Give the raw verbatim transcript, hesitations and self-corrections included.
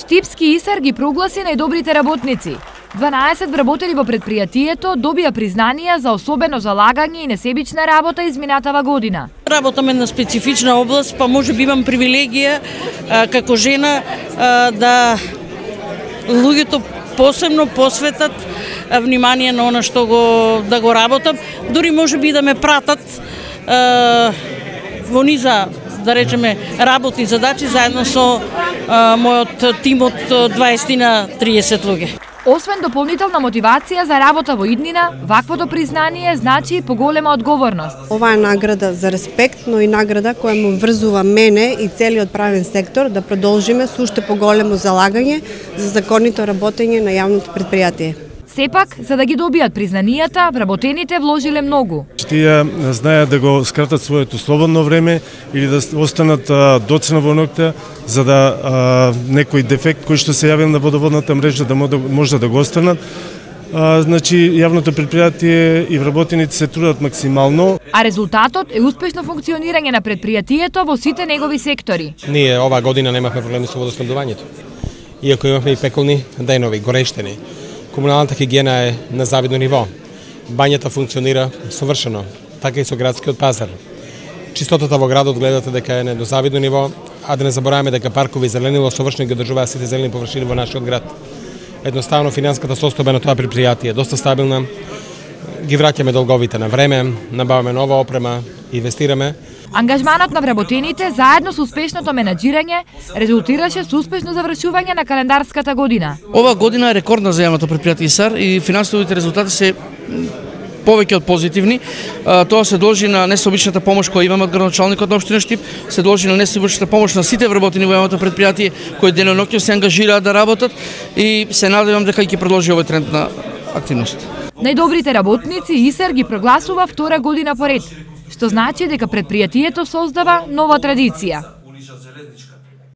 Штипски ИСАР ги прогласи најдобрите работници. дванаесет вработени во предпријатието добија признанија за особено залагање и несебична работа изминатава година. Работам една специфична област, па може би имам привилегија а, како жена а, да луѓето посебно посветат а, внимание на она што го да го работам, дури може би да ме пратат а, во низа, да речеме, работни задачи заедно со а, мојот тим од дваесет на триесет луѓе. Освен дополнителна мотивација за работа во иднина, ваквото признание значи и поголема одговорност. Ова е награда за респект, но и награда која му врзува мене и целиот правен сектор да продолжиме со уште поголемо залагање за законито работење на јавното предпријатие. Сепак, за да ги добијат признанијата, вработените вложиле многу. Тие знаеат да го скратат своето слободно време или да останат а, доцна во ноќта, за да а, некој дефект кој што се јавил на водоводната мрежа да може да го останат. А, значи, јавното предпријатие и вработените се трудат максимално. А резултатот е успешно функционирање на предпријатието во сите негови сектори. Ние оваа година немавме проблеми со водоснабдувањето. Иако имавме и пеколни денови, горештени. Комуналната хигиена е на завидно ниво. Бањата функционира совршено, така и со градскиот пазар. Чистотата во градот гледате дека е на завидно ниво, а да не забораваме дека паркови и зеленило совршено ги одржуваат сите зелени површини во нашиот град. Едноставно финансиската состојба на тоа предпријатие е доста стабилна. Ги враќаме долговите на време, набаваме нова опрема, инвестираме. Ангажманот на вработените заедно со успешното менаџирање резултираше со успешно завршување на календарската година. Ова година е рекордна за јавното предпријатие ИСАР и финансовите резултати се повеќе од позитивни. Тоа се должи на несеобичната помош која имаме од градоначалникот на општина Штип, се должи на несеобичната помош на сите вработени во јавното предпријатие кои деноноќно се ангажираат да работат и се надевам дека ќе продолжи овој тренд на активност. Најдобрите работници ИСАР ги прогласува втора година поред, што значи дека предпријатието создава нова традиција.